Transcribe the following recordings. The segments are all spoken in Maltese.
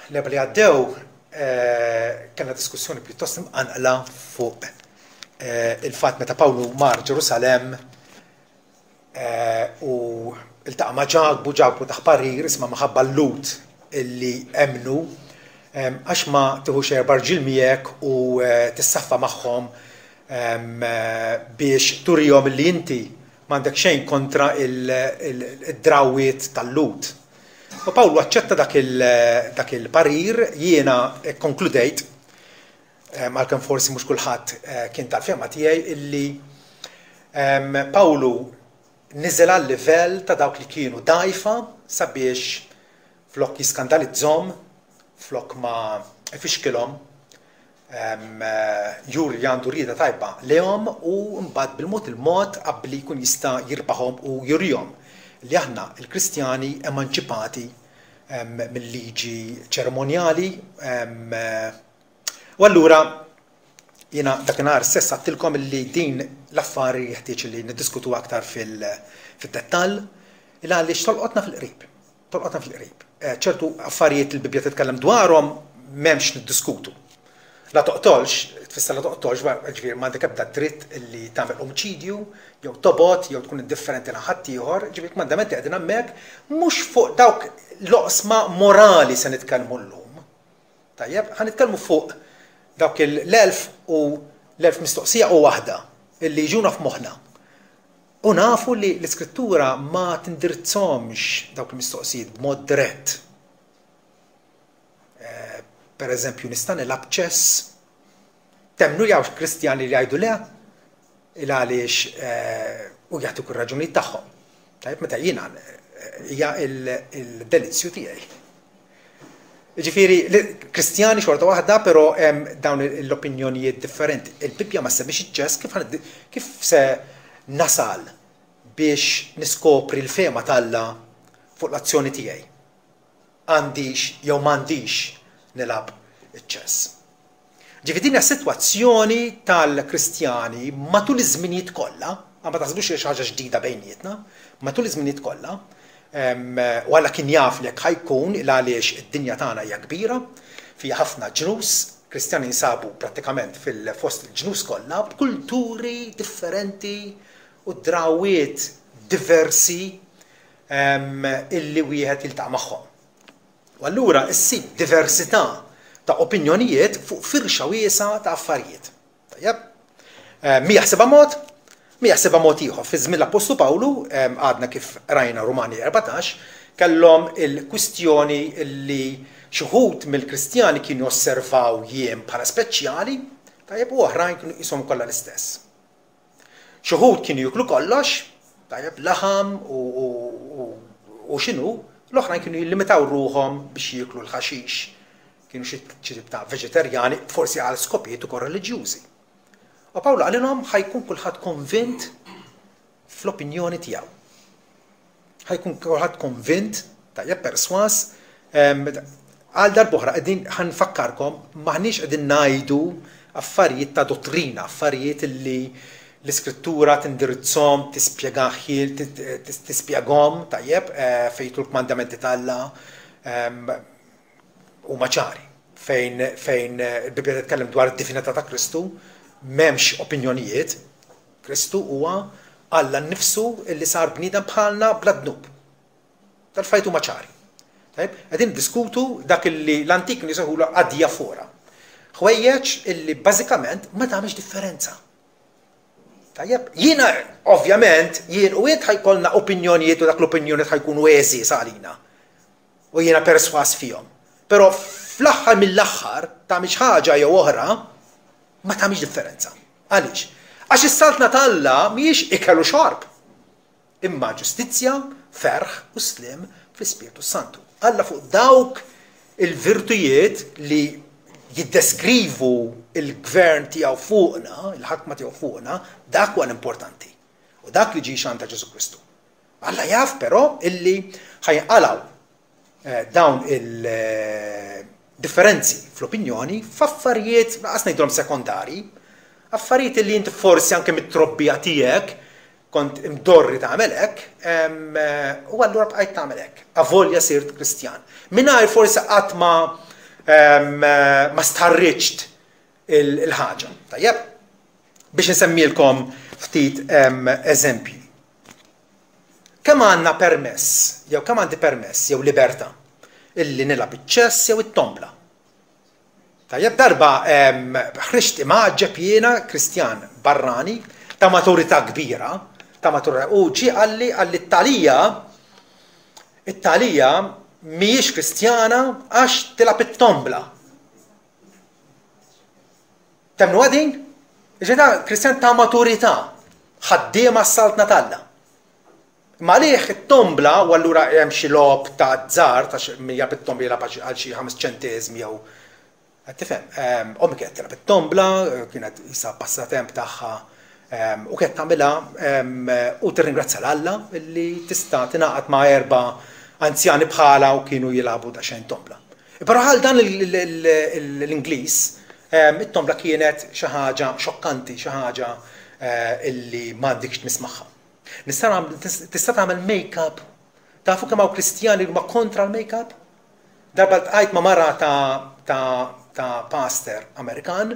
L-Erbgħa li għaddew kellna diskussjoni pjuttost imqanqla fuq il-fatt meta Pawlu mar Ġerusalemm u iltaqa' ma' Ġakbu, Ġakbu tah parir isma' minħabba l-Lhud illi emmnu għax ma tiħux erba' rġiel miegħek u tissaffa magħhom biex turihom illi inti m'għandek xejn kontra il-drawwiet tal-Lhud. U Pawlu aċċetta dak il-parir, jiena kkonkludejt, għalkemm forsi mhux kulħadd kien tal-fehma tiegħi, illi Pawlu niżel għal-livell ta' dawk li kienu dgħajfa sabiex flok jiskandalizzhom, flok ma ifixkilhom, Juri li għandu rieda tajba lejhom u mbagħad bil-mod il-mod abbli jkun jista' jirbaħhom u jurihom li aħna l-Kristjani emanċipati mil-liġi ċerimonjali. U allura jiena dakinhar stess għedtilkom li din l-affari jeħtieġ li niddiskutu aktar fil-dettall il għaliex tolqotna fil-qrib. Tolqotna fil-qrib. Ċertu affarijiet li l-Bibbja titkellem dwarhom m'hemmx niddiskutu. La toqtolx, tfisser la toqtolx, ġifieri m'għandek ebda dritt li tagħmel omiċidju, jew tobgħod, jew tkun indifferenti lejn ħaddieħor, ġifieri l-kmandamenti qegħdin hemmhekk mhux fuq dawk l-oqsma morali se nitkellmu llum. Tajjeb, ħa nitkellmu fuq dawk l-elf u l-elf mistoqsija u waħda illi jiġuna f'moħħna. U nafu li l-Iskrittura ma tindirizzhomx dawk il-mistoqsijiet b'mod dirett. Per eżempju, nista' nilgħab ċess? Temmnu li hawn Kristjani li jgħidu le? Il għaliex u jagħtuk ir-raġunijiet tagħhom. Tajjeb, meta jiena hija il-delizzju tiegħi. Ġifieri, Kristjani xorta waħda, però hemm dawn l-opinjonijiet differenti. Il-Bibbja ma semmix iċ-ċess kif kif se nasal biex niskopri l-fehma t'Alla fuq l-azzjoni tiegħi. Għandix jew m'għandix nilgħab iċ-ċess. Ġifieri din hija sitwazzjoni tal-Kristjani matul iż-żminijiet kollha, ma taħsbux li xi ħaġa ġdida bejnietna, matul iż-żminijiet kollha, u Alla kien jaf li hekk ħa jkun il għaliex id-dinja tagħna hija kbira, fiha ħafna ġnus, Kristjani jinsabu prattikament fil-fost il-ġnus kollha b'kulturi differenti u drawwiet diversi illi wieħed jiltaqa' magħhom. U allura issib diversità ta' opinjonijiet fuq firxa wiesgħa ta' affarijiet. Tajjeb? Eh, mi jaħsibha mod, mi jaħsibha mod ieħor. Fi żmien l-Appostlu Pawlu, eh, għadna kif rajna Rumani 14, kellhom il-kwistjoni li xi wħud mill-Kristjani kienu josservaw jiem bħala speċjali, tajjeb u oħrajn kienu qishom kollha l-istess. Xi wħud kienu jieklu kollox, tajjeb, laħam u x'inhu, l-oħrajn kienu jillimitaw ruħhom biex jieklu l-ħaxix. Kienu xi tip ta' veġetarjani, forsi għal skopijiet ukoll reliġjużi. U Pawlu qalilhom ħa jkun kulħadd konvint fl-opinjoni tiegħu. Ħa jkun kulħadd konvint, tajjeb perswas, għal darb'oħra qegħdin ħa nfakkarkom m'aħniex qegħdin ngħidu affarijiet ta' dottrina, affarijiet li l-iskrittura tindirizzhom, tispjegaħ, tispjegahom, tajjeb, eh, fejn l-kmandamenti t'Alla huma ċari. Fejn fejn il-Bibbja titkellem dwar id-divinità ta' Kristu, m'hemmx opinjonijiet, Kristu huwa Alla nnifsu li sar bniedem bħalna bla dnub. Dal-affarijiet huma ċari. Tajjeb, qegħdin niddiskutu dak li l-antik kienu jsejħulu adiafora. Ħwejjeġ illi bażikament ma tagħmilx differenza. Tajjeb, jiena ovvjament jien u int ħajkollna opinjonijiet u dak l-opinjonijiet ħajkunu għeżież għalina. U jiena perswas fihom. Però fl-aħħar mill-aħħar tagħmilx ħaġa jew oħra ma tagħmilx differenza. Għaliex? Għax is-saltna ta' Alla mhijiex ikel u xorb, imma ġustizzja, ferħ u sliem fl-Ispirtu s-Santu. Alla fuq dawk il-virtujiet li jiddeskrivu il-gvern tiegħu fuqna, il-ħakma tiegħu fuqna, dak huwa l-importanti. U dak li ġie xandar Ġesù Kristu. Alla jaf però illi ħa jinqalgħu dawn il-differenzi fl-opinjoni f'affarijiet, lanqas ngħidulhom sekondari, affarijiet li inti forsi anke mit-trobbija tiegħek kont imdorri tagħmel hekk, u allura bqajt tagħmel hekk, avolja sirt Kristjan. Mingħajr forsi qatt ma ma stħarriġt il-ħaġa. Tajjeb? Biex insemmilkom ftit eżempji. Kemm għandna permess, jew kemm għandi permess, jew libertà, illi nilgħab iċ-ċess jew it-tombla? Tajjeb, darba ħriġt imgħaġġeb jiena Kristjan barrani ta' maturità kbira, ta' maturità, u ġie qalli qalli t-talija it-talija mhijiex Kristjana għax tilgħab it-tombla. Temmnuha din? Ġifieri ta' Kristjan ta' maturità, ħaddiema s-saltna t'Alla. Imma għalih it-tombla, u allura hemm xi logħob ta' azzard għax min jilgħab it-tombla jilgħab għal xi ħames ċenteżmi jew qed tifhem. Ommi kienet tilgħab it-tombla, kienet qisha passatemp tagħha u kienet tagħmilha u tirringrazzja 'l Alla li tista' tingħaqad ma' erba' anzjani bħalha u kienu jilagħbu daqsxejn tombla. Però għal dan l-Ingliż it-tombla kienet xi ħaġa xokkanti, xi ħaġa illi m'għandikx tmiss magħha. Nista' nagħmel tista' tagħmel make-up. Tafu kemm hawn Kristjani li huma kontra l-make-up? Darba ltqajt ma' mara ta' ta' ta' pastor Amerikan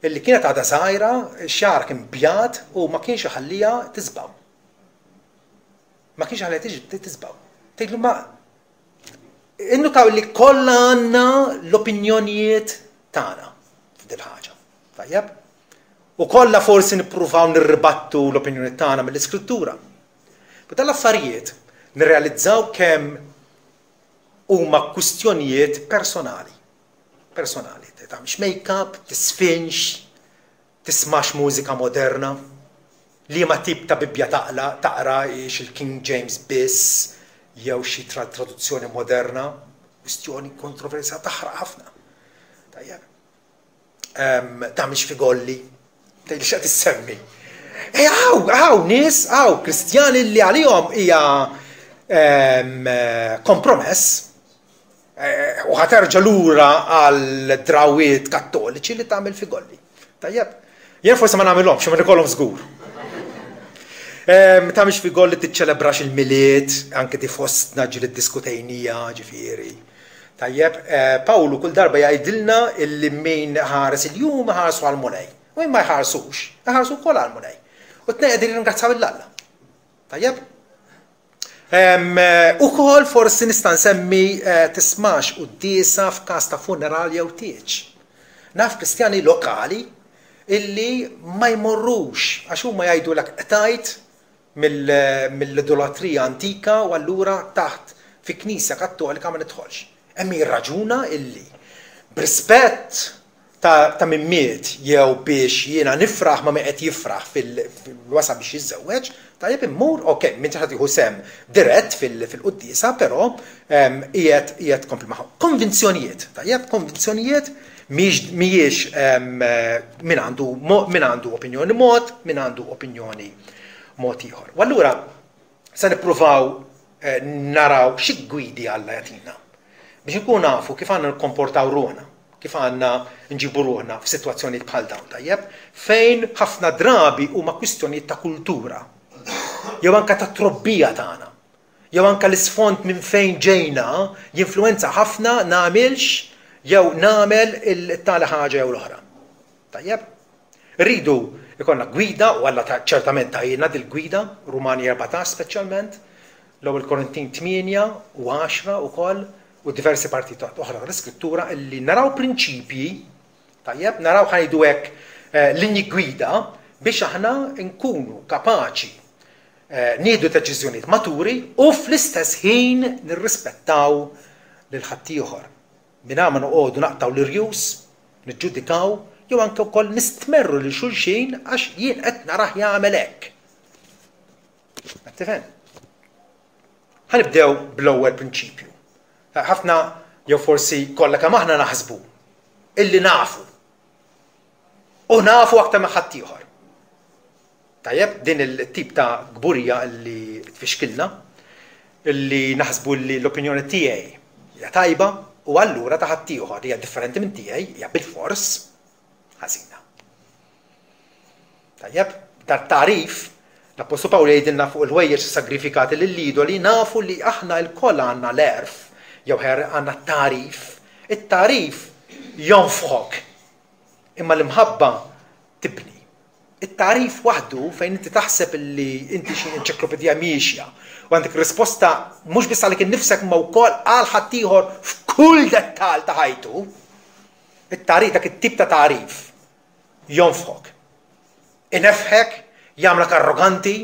illi kienet għadha żgħira, xagħarha kien bjad u ma kienx iħalliha tisbaw. Ma kienx iħalliha tisbaw. Tgħidlu ma innutaw li kollha għandna l-opinjonijiet tagħna f'dil ħaġa. Tajjeb? U kollha forsi nippruvaw nirribattu l-opinjoni tagħna mill-Iskrittura. Ma dan l-affarijiet nirrealizzaw kemm huma kwistjonijiet personali. Personali. Tagħmilx make-up, tisfinx, tismax mużika moderna, liema tip ta' Bibbja taqla, taqra hix il-King James biss jew xi traduzzjoni moderna, kwistjoni kontroversjali taħraq ħafna. Tajjeb. Tagħmilx figolli. Tgħidli x'qed issemmi. Hawn, hawn nies, hawn Kristjani li għalihom hija kompromess eh, u ħaterġa' lura għal drawiet kattoliċi li tagħmel figolli. Tajjeb, jien forsi ma nagħmilhomx, ma nikollhom żgur. Tagħmilx figolli tiċċelebrax il-Milied, anke di fostna ġieli ddiskutejnija, ġifieri. Tajjeb, Pawlu kull darba jgħidilna illi min iħares il-jum iħarsu għall-Mulej. U min ma jħarsux, iħarsu wkoll għall-Mulej. U t-tnejn qegħdin jirringrazzaw lil Alla. Tajjeb? Ukoll forsi nista' nsemmi tismax quddiesa f'każ ta' funeral jew tieġ. Naf Kristjani lokali illi ma jmorrux għax huma jgħidulek qtajt mill-idolatrija antika u allura taħt fi knisja kattolika ma nidħolx. Hemm min jirraġuna illi b'rispett ta' ta' min miet jew biex jiena nifraħ ma' min qed jifraħ fil-wasa biex jiżżewweġ, tajjeb immur, ok, m'intix ħa tieħu sehem dirett fil-quddiesa, però qiegħed qiegħed tkompli magħhom. Konvinzjonijiet, tajjeb, konvinzjonijiet mhijiex mhijiex min għandu min għandu opinjoni mod, min għandu opinjoni mod ieħor. U allura se nippruvaw eh, naraw xi gwidi Alla jagħtina biex inkunu nafu kif għandna nikkomportaw ruħna, kif għandna nġibu ruħna f'sitwazzjonijiet bħal dawn, tajjeb, fejn ħafna drabi huma kwistjonijiet ta' kultura jew anka ta' trobbija tagħna. Jew anka l-isfond minn fejn ġejna jinfluwenza ħafna nagħmilx jew nagħmel it-tali ħaġa jew l-oħra. Tajjeb? Irridu jkollna gwida u Alla ċertament tajilna dil-gwida, Rumani 14 speċjalment, l-Ewwel Korintin 8 u 10 ukoll u diversi partijiet oħra tal-Iskrittura illi naraw prinċipji, tajjeb, naraw ħa ngħidu hekk eh, linji gwida biex aħna nkunu kapaċi eh, nieħdu deċiżjonijiet maturi u fl-istess ħin nirrispettaw lil ħaddieħor. Mingħajr ma noqogħdu naqtgħu l-irjus, niġġudikaw jew anke wkoll nistmerru lil xulxin għax jien qed narah jagħmel hekk. Qed tifhem? Ħa nibdew bl-ewwel prinċipju. Ħafna jew forsi kollha kemm aħna naħsbu illi nafu. U nafu aktar minn ħaddieħor. Tajjeb, din il-tip ta' kburija li tfixkilna, li naħsbu li l-opinjoni tiegħi hija tajba u allura ta' ħaddieħor li hija differenti minn tiegħi hija bilfors ħażina. Tajjeb, dat-tagħrif l-Appostlu Pawlu jgħidilna fuq il-ħwejjeġ sagrifikati lill-idoli nafu li aħna lkoll għandna l-għerf jew ħer għandna t-tagħrif. It-tagħrif jonfħok. Imma l-imħabba tibni. It-tagħrif waħdu fejn inti taħseb li inti xi enċiklopedija miexja u għandek risposta mhux biss għalik innifsek imma wkoll għal ħaddieħor f'kull dettall ta' ħajtu, it-tagħrif dak it-tip ta' tagħrif jonfħok. Inefħek, jagħmlek arroganti,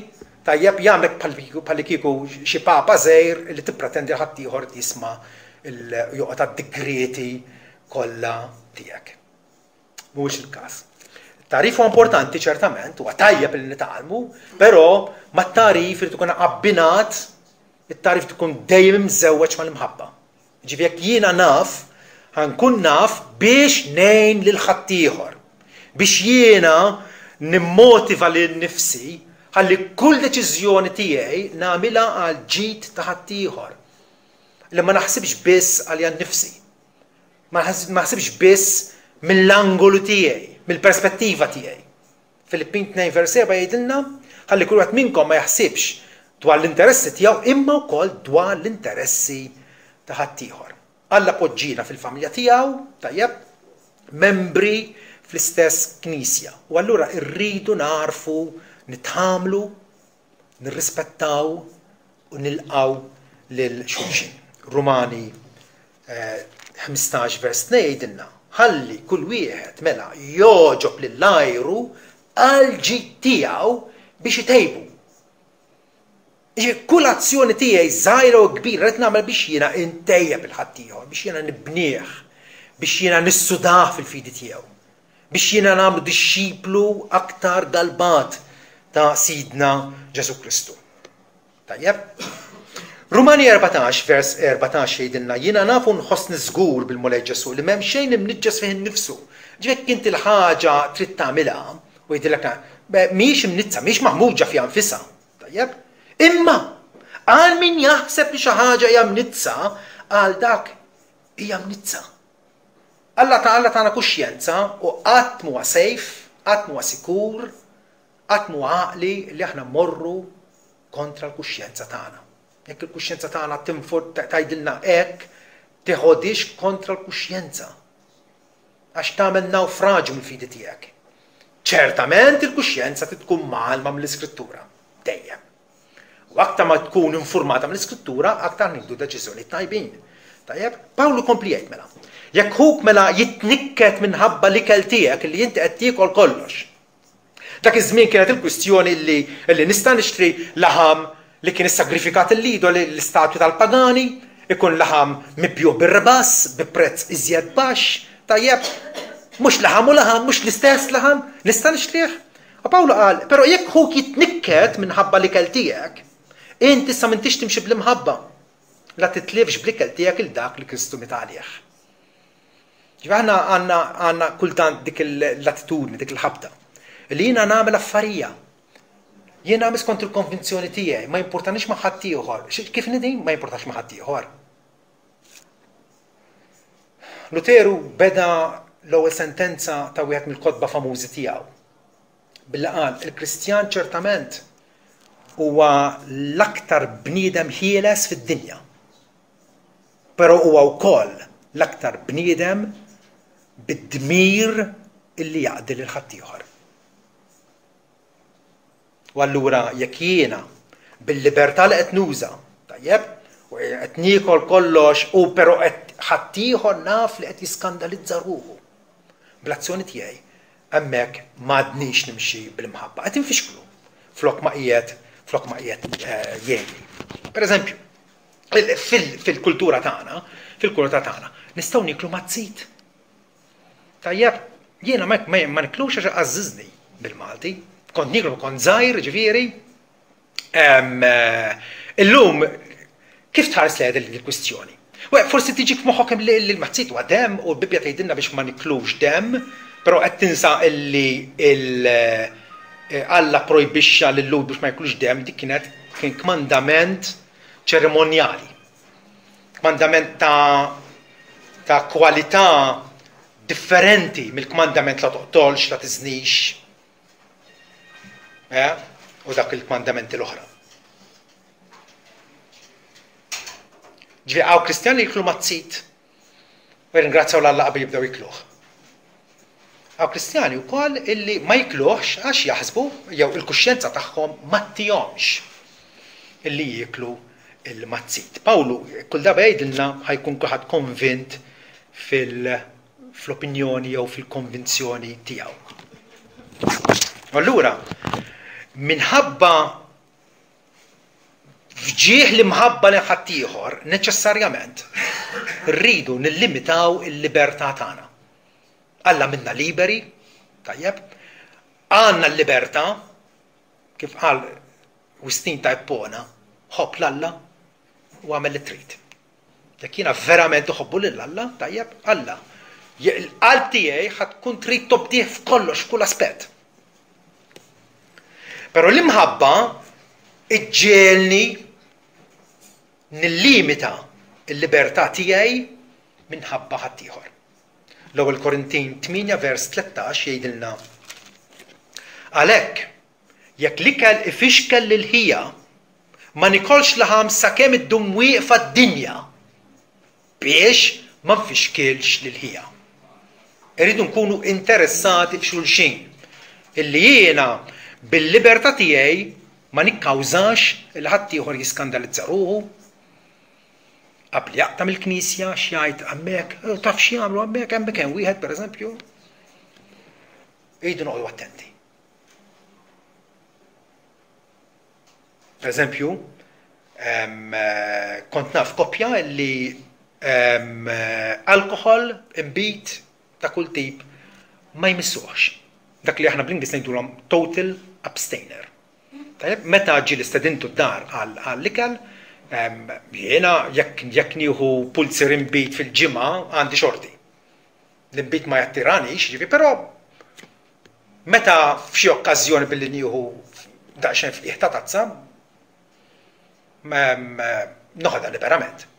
tajjeb, jagħmlek bħallikieku xi papa żgħir li tippretendi li ħaddieħor jisma' joqgħod għad-digrieti kollha tiegħek. Mhuwiex il-każ. Tagħrif huwa importanti ċertament, huwa tajjeb li nitgħallmu, però mat-tagħrif irid ikun abbinat, it-tagħrif tkun dejjem imżewweġ mal-imħabba. Ġifieri jekk jiena naf, ħankun naf biex ngħin lil ħaddieħor. Biex jiena nimmotiva lil nifsi ħalli kull deċiżjoni tiegħi nagħmilha għal ġid ta' ħaddieħor. Li ma naħsibx biss għalija nnifsi. Ma naħsibx biss mill-angolu tiegħi, mill-perspettiva tiegħi. Filippin 2 vers 7 jgħidilna ħalli kull wieħed minnkom ma jaħsibx dwar l-interessi tiegħu imma wkoll dwar l-interessi ta' ħaddieħor. Alla poġġina fil-familja tiegħu, tajjeb, membri fl-istess knisja. U allura rridu narfu nitħamlu nirrispettaw u nilqgħu lil xulxin. Rumani 15 eh, vers 2 jgħidilna, ħalli kull wieħed mela jogħġob lil għajru għal ġid tiegħu biex itejbu. Kull azzjoni tiegħi żgħira u kbira qed nagħmel biex jiena intejjeb il-ħaddieħor, biex jiena nibnieh, biex jiena nissudah fil-fidi tiegħu. Biex jiena nagħmlu dixxiplu aktar galbat ta' Sidna Ġesù Kristu. Tajjeb? Rumani 14 vers 14 jgħidilna jiena nafu nħossni żgur bil-Mulej Ġesù li m'hemm xejn imniġġes fih innifsu. Ġifieri jekk inti l-ħaġa trid tagħmilha u jgħidilek mhijiex imnizzha, mhijiex maħmuġa fiha nfisha. Tajjeb? Imma għal min jaħseb li xi ħaġa hija mnizza, għal dak hija mnizza. Alla ta' Alla tana kuxjenza u qatt m'huwa safe, qatt m'huwa sikur, qatt m'huwa għaqli li aħna mmorru kontra l-kuxjenza tagħna. Jekk il-kuxjenza tagħna tgħidilna hekk, teħodhiex kontra l-kuxjenza. Għax tagħmel nawfraġju mill-fidi tiegħek. Ċertament il-kuxjenza trid tkun mgħallma mill-Iskrittura, dejjem. U aktar ma tkun informata mill-Iskrittura, aktar nieħdu deċiżjonijiet tajbin. Tajjeb, Pawlu kompli jgħid mela. Jekk ħuk mela jitnikket minħabba l-ikel tiegħek li inti qed tiekol kollox. Dak iż-żmien kienet il-kwistjoni li, li nista' nixtri laħam li kien issagrifikat l-idoli l-istatwi tal-pagani, ikun laħam mibjuh bir-rbas, bi prezz iżjed baxx, tajjeb, mhux laħam u laħam, mhux l-istess laħam, nista' nixtrih? U Pawlu qal, però jekk ħuk jitnikket minħabba l-ikel tiegħek, int issa m'intix timxi bl-imħabba. La titlifx bl-ikel tiegħek il dak li Kristu miet għalih. Ġifieri aħna għandna għandna kultant dik l-attitudni, dik il-ħabta. Li jiena nagħmel affarija. Jien nagħmel skont il-konvinzjoni tiegħi, ma jimpurtanix ma' ħaddieħor. Kif nidin? Ma jimpurtax ma' ħaddieħor. Luteru beda l-ewwel sentenza ta' wieħed mill-kotba famużi tiegħu. Billi qal, il-Kristjan ċertament huwa l-aktar bniedem ħieles fid-dinja. Però huwa wkoll l-aktar bniedem bid-dmir illi jaqdi lil ħaddieħor. U allura jekk jiena bil-libertà li qed nuża, tajjeb, u qed niekol kollox u però qed ħaddieħor naf li qed jiskandalizza ruħu. Bl-azzjoni tiegħi hemmhekk m'għadnix nimxi bl-imħabba, qed infixklu flok ma qiegħed flok ma qiegħed eh, jgħinni. Per eżempju, fil-kultura tagħna, fil-kultura tagħna, nistgħu nieklu mazzit. Tajjeb, jiena ma, ma, ma niklux għax għażżiżni bil-Malti. Kont niklu kont żgħir, ġifieri. Eh, illum kif tħares lejha din il-kwistjoni? Forsi tiġik f'moħħok li l-mazzit huwa demm u l-Bibbja tgħidilna biex ma niklux demm, però qed tinsa illi il eh, Alla projbixxa lil Lhud biex ma jiklux demm, dik kienet kien kmandament ċerimonjali. Kmandament ta' ta' kwalità differenti mill-kmandament la toqtolx, la tiżnix, eh? u dak il-kmandamenti l-oħra. Ġifieri hawn Kristjani jiklu mazzit. U jirringrazzjaw 'l Alla qabel jibdew jikluh. Hawn Kristjani wkoll illi ma jikluhx għax jaħsbu jew il-kuxjenza tagħhom ma ttihomx illi jieklu l-mazzit. Pawlu kull darba jgħidilna ħa jkun kulħadd konvint fil fl-opinjoni jew fil-konvinzjoni tiegħu. Allura, minħabba f'ġieħ l-imħabba lejn ħaddieħor, neċessarjament rridu nillimitaw il-libertà tagħna. Alla minna liberi, tajjeb, għandna l-libertà, kif qal Wistin ta' Ippona, ħobb 'l Alla u agħmel li trid. Jekk jiena verament iħobbu lil Alla, tajjeb, Alla, il-qalb tiegħi ħa tkun trid tobdih f'kollox, f'kull aspett. Però l-imħabba iġġiegħelni nillimita l-libertà tiegħi minħabba ħaddieħor. L-ewwel Korintin 8 vers 13 jgħidilna Għalhekk, jekk l-ikel ifixkel lil ħija, ma nikolx laħam sakemm iddum wieqfa d-dinja, biex ma nfixkilx lil ħija. Irridu nkunu interessati f'xulxin, illi jiena bil-libertà tiegħi ma nikkawżax li ħaddieħor jiskandalizza ruħu, qabli jaqta' mill-knisja x'jgħid hemmhekk, eh, taf x'jagħmlu hemmhekk, hemmhekk hemm wieħed pereżempju. Irridu noqogħdu attenti. Per eżempju, eh, kont naf koppja li alkohol, imbit ta' kull tip ma jmissuhx. Dak li aħna bl-Ingliż ngħidulhom total abstainer. Tajjeb, meta ġie li stedintu d-dar għall-ikel, jiena jekk jekk nieħu pulzier inbid fil-ġimgħa għandi xorti. L-inbid ma jattiranix, ġifi, però meta f'xi okkażjoni billi nieħu daqsxejn f'qiegħ ta' tazza, noħodha liberament.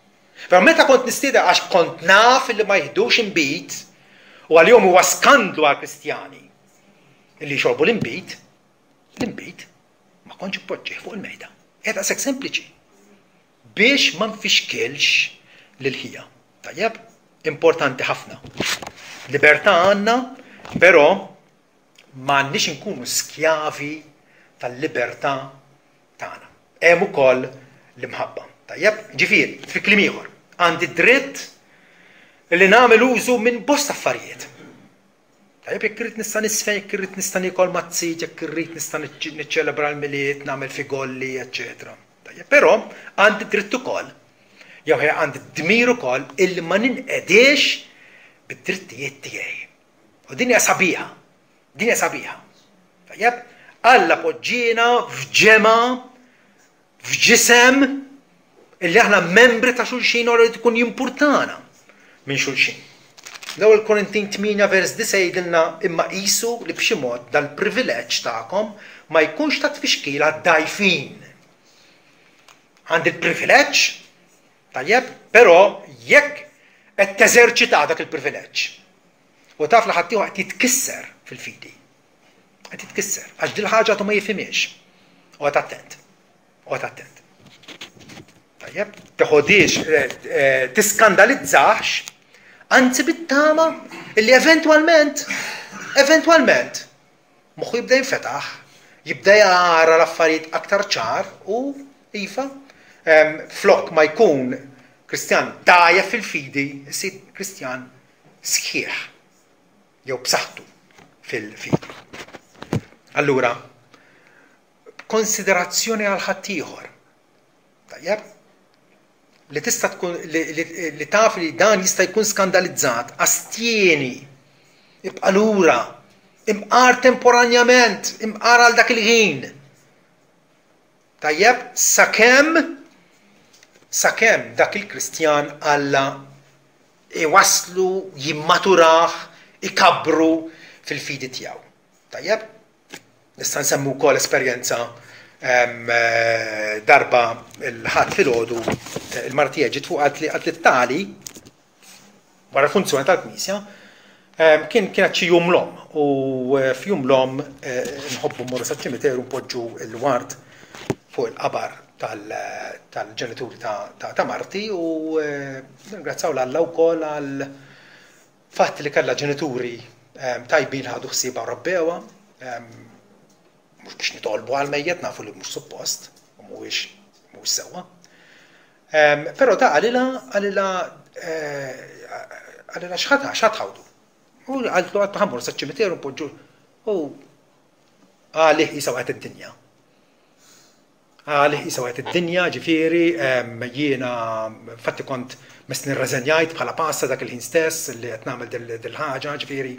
Però meta kont nistieden għax kont naf li ma jiħdux inbid u għalihom huwa skandlu għall-Kristjani li jxorbu l-inbid, L-inbid ma kontx inpoġġih fuq il-mejda. Hija daqshekk sempliċi. Biex ma nfixkilx lil ħija. Tajjeb? Importanti ħafna. Libertà għandna, però ma għandniex inkunu skjavi tal-libertà tagħna. Hemm ukoll l-imħabba. Tajjeb? Ġifieri, fi kliem ieħor, għandi dritt li nagħmel użu minn bosta affarijiet. Tajjeb, jekk irrid nista' nisfen, jekk irrid nista' niekol mazzit, jekk irrid nista' niċċelebra l-Milied, nagħmel figolli, eċċetera. Tajjeb, però għandi dritt ukoll, jew għandi dmir ukoll illi ma ninqediex bid-drittijiet tiegħi. U din hija sabiħa. Din hija sabiħa. Tajjeb, Alla poġġiena f'ġemgħa f'ġisem illi aħna membri ta' xulxin u li tkun jimpurtana minn xulxin. L-ewwel Korintin 8 vers 9 jgħidilna imma qisu li b'xi mod dal-privileġġ tagħkom ma jkunx ta' tfixkil għad-dgħajfin. Għandi l-privileġġ, tajjeb, però jekk qed teżerċita dak il-privileġġ u taf li ħaddieħor qed jitkisser fil-fidi. Qed jitkisser għax dil-ħaġa għadu ma jifhimhiex. Oqgħod attent. Oqgħod attent. Tajjeb, teħodiex, eh, eh, tiskandalizzax, anzi bit-tama illi eventwalment, eventwalment, moħħu jibda jinfetaħ, jibda jara l-affarijiet aktar ċar u iva, flok ma jkun Kristjan dajja fil-fidi, jsir Kristjan sħiħ. jew b'saħħtu fil-fidi. Allura, b'konsiderazzjoni għal ħaddieħor. Tajjeb? Li tista' tkun li, li, li taf li dan jista' jkun skandalizzat, astjeni, ibqa' lura, imqar temporanjament, imqar għal dak il-ħin. Tajjeb, sakemm sakemm dak il-Kristjan Alla iwasslu, jimmaturah, ikabbru fil-fidi tiegħu. Tajjeb? Nista' nsemmu wkoll esperjenza darba l-Ħadd filgħodu il-mara tiegħi ġiet fuq qaltli qaltli tali wara l-funzjoni tal-Knisja kien kienet xi jum l-omm u eh, f'jum l-omm eh, nħobbu mmorru saċ-ċimiteru npoġġu l-ward fuq il-qabar tal-ġenituri ta' marti u eh, ningrazzaw l-Alla wkoll għal Fatt li kellha ġenituri tajbin ħadu ħsiebha u rabbewha, mhux biex nitolbu għal mejjet nafu li mhux suppost u mhuwiex mhuwiex sewwa. Però da qalilha qalilha eh, qalilha x'ħadd x'ħadd ħawdu. U qaltlu għad ħammur saċ-ċimiteru npoġġu u għalih jisa waqgħet id-dinja. Għalih qisha waqgħet id-dinja, ġifieri, jiena infatti kont messni rreżenjajt bħala pasta dak il-ħin stess li qed nagħmel dil-ħaġa, ġifieri.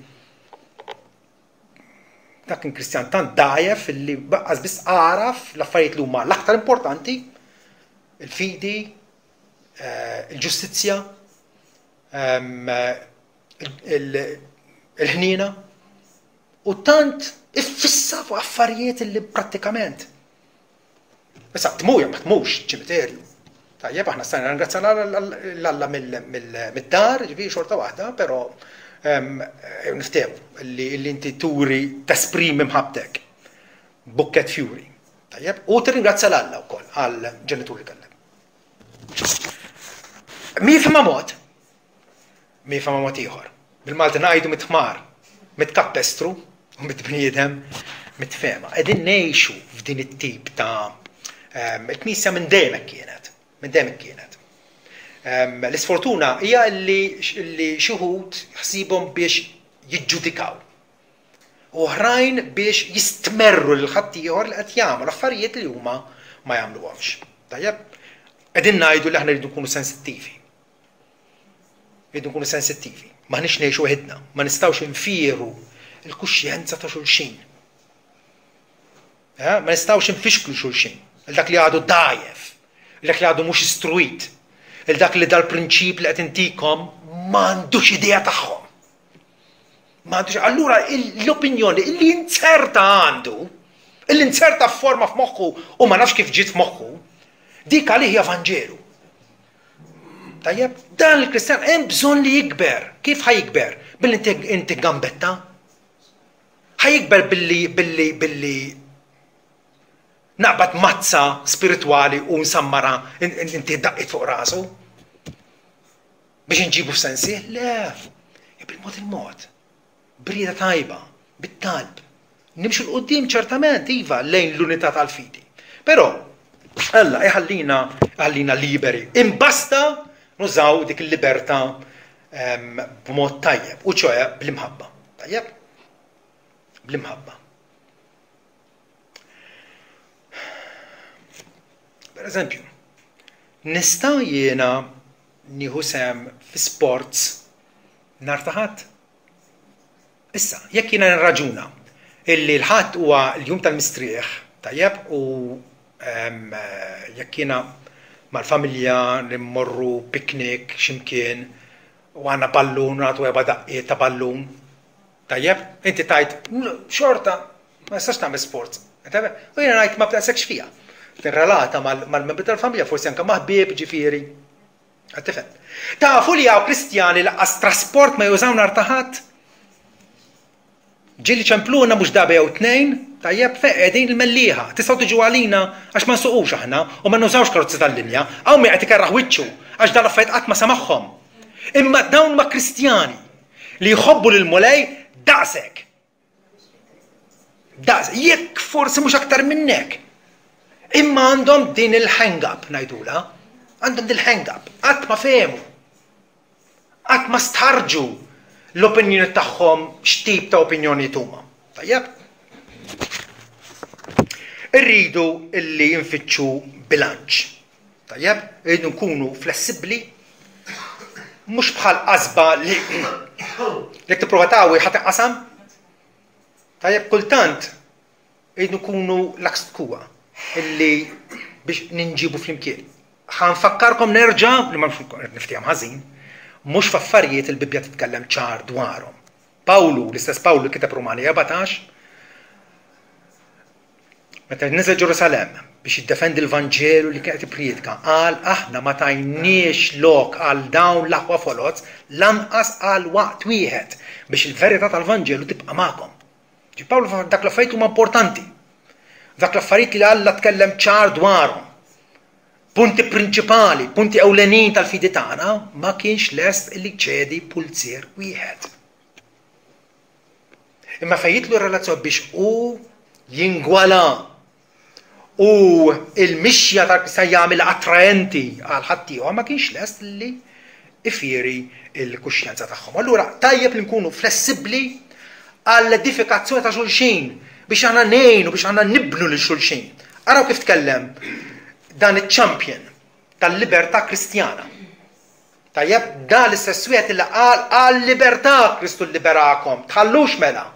Dak kien Kristjan tant dgħajef li baqqas biss għaraf l-affarijiet li huma l-aktar importanti, il-fidi, eh, il-ġustizzja, il-ħniena, u tant iffissa fuq affarijiet li prattikament. Issa tmur jew ma tmurx ċimiterju. Tajjeb aħna stajna ringrazzja l-Alla mid-dar, ġifieri xorta waħda, però niftehmu li inti turi tesprimi mħabbtek. Bukket fjuri. Tajjeb, u tirringrazzja l-Alla wkoll għal ġenitur li kellek. Mi fima mod, Mi fama mod ieħor. Bil-Malti ngħidu mit-ħmar, mit-kappestru u mit-bniedem mit-fehma. Qegħdin ngħixu f'din it-tip ta' ehm, il-Knisja minn dejjem hekk kienet. Minn dejjem hekk kienet. Ehm, l-isfortuna hija li xi wħud ħsibhom biex jiġġudikaw. U oħrajn biex jistmerru lil ħaddieħor li qed jagħmlu affarijiet li huma ma jagħmluhomx. Tajjeb? Qegħdin ngħidu li aħna rridu nkunu sensittivi. Irridu nkunu sensittivi. M'aħniex ngħixu weħidna, ma nistgħux infieru l-kuxjenza ta' xulxin. Eh, ma nistgħux infixklu xulxin. Il dak li għadu dajef, il dak li għadu mhux istruit, il dak li dal-prinċip li qed intikom m'għandux idea tagħhom. M'għandux allura l-opinjoni li inzerta għandu, li inzerta f'forma f'moħħu u ma nafx kif ġiet f'moħħu, dik għalih hija Vanġelu. Tajjeb, dan il-Kristjan hemm bżonn li jikber. Kif ħa jikber? Billi inti inti gambetta? Ħa jikber billi billi billi naqbad mazza spiritwali u nsammara inti daqqit fuq rasu? Biex nġibu f'sensi? Le, bil-mod il-mod. B'rieda tajba, bit-talb. Nimxu 'l quddiem ċertament, iva, lejn l-unità tal-fidi. Però, Alla iħallina iħallina liberi. Imbasta nużaw dik il-libertà ehm, b'mod tajjeb, u ċoe bl-imħabba. Tajjeb? Bl-imħabba. Per eżempju, nista' jiena nieħu sehem fi sports nhar ta' Ħadd? Issa, jekk jiena nirraġuna illi l-Ħadd huwa l-jum tal-mistrieħ, tajjeb, u jekk jiena mal-familja nimmorru picnic x'imkien u għandna ballun u nagħtu erba' daqqiet ta' ballun, tajjeb, inti tgħid xorta ma nistax nagħmel sports. U jiena ngħid ma b'daqshekk fija. Tirrelata mal-membri tal-familja, forsi anke ma' ħbieb, ġifieri. Qed tifhem? Tafu li hawn Kristjani laqqas trasport ma jużaw nhar ta' Ħadd? Ġieli ċempluna mhux darba jew tnejn, tajjeb, fejn qegħdin il-Mellieħa. Tistgħu tiġu għalina għax ma nsuqux aħna u ma nużawx karozzi tal-linja. Hawn min qed ikerraħ wiċċu għax dan l-affarijiet qatt ma semagħhom. Imma dawn ma Kristjani li jħobbu lill-Mulej daqshekk. Daqs, jekk forsi mhux aktar minnek. Imma għandhom din il-hang up ngħidula. Għandhom din il-hang up. Qatt ma fehmu. Qatt ma stħarġu l-opinjoni tagħhom x'tip ta' opinjoni huma. Tajjeb? Irridu illi nfittxu bilanċ. Tajjeb? Irridu nkunu flessibbli mhux bħal qasba li jekk tipprova tagħwi ħa tinqasam. Tajjeb kultant irridu nkunu l-aks tkuwa illi biex ninġibu flimkien. Ħa nfakkarkom nerġa' li ma niftehom ħażin, mhux f'affarijiet il-Bibbja titkellem ċar dwarhom. Pawlu, l-istess Pawlu li kiteb Rumani 14, Meta niżel Ġerusalemm biex jiddefendi l-Vanġelu li kien qed jippriedka, qal aħna ma tajniex lok għal dawn l-aħwa foloz lanqas għal waqt wieħed biex il-verità tal-Vanġelu tibqa' magħkom. Ġi Pawlu dak l-affarijiet huma importanti. Dak l-affarijiet li Alla tkellem ċar dwarhom. Punti prinċipali, punti ewlenin tal-fidi tagħna ma kienx lest li jċedi pulzier wieħed. Imma fejn jidħlu r-relazzjoni biex hu jingwala u il-mixja tal-Kristjan jagħmilha attraenti għal ħaddieħor ma kienx lest li ifieri l-kuxjenza tagħhom. Allura tajjeb li nkunu flessibbli għall-edifikazzjoni ta' xulxin biex aħna ngħinu biex aħna nibnu lil xulxin. Araw kif tkellem dan iċ-champion tal-libertà Kristjana. Tajjeb, dan l-istess wieħed li qal għal-libertà Kristu lliberakom, tħallux mela.